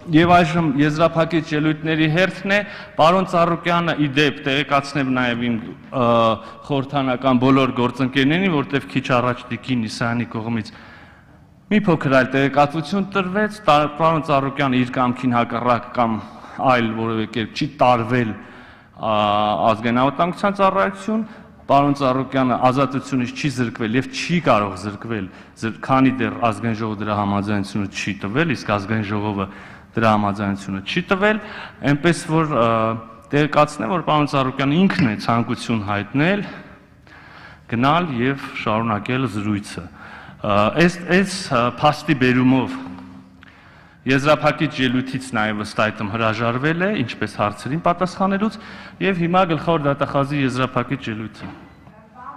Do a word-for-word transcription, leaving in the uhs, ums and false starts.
Եվ այժմ եզրափակիչ ելույթների հերթն է, պարոն Ծառուկյանը ի դեպ տեղեկացնեմ նաև իմ խորհրդանական բոլոր գործընկերներին, որտեղ քիչ առաջ Տիկին Իսայանի կողմից մի փոքր այլ տեղեկատվություն տրվեց, պարոն Ծառուկյանը իր կամքին հակառակ կամ այլ որևէ կերպ չի տարվել ազգային անվտանգության ծառայություն, պարոն Ծառուկյանը ազատությունից չի զրկվել եւ չի կարող զրկվել, քանի դեռ ազգային ժողովը դրա համաձայնությունը չի տվել, իսկ ազգային ժողովը դրա համաձայնությունը չի տվել, այնպես որ տեղեկացնեմ, որ պարոն Ծառուկյանը ինքն է ցանկություն հայտնել գնալ եւ շարունակել զրույցը։ Այս փաստի բերումով եզրափակիչ ելույթից նաև ըստ այդմ հրաժարվել է, ինչպես հարցերին պատասխանելուց, եւ հիմա գլխավոր դատախազի եզրափակիչ ելույթը։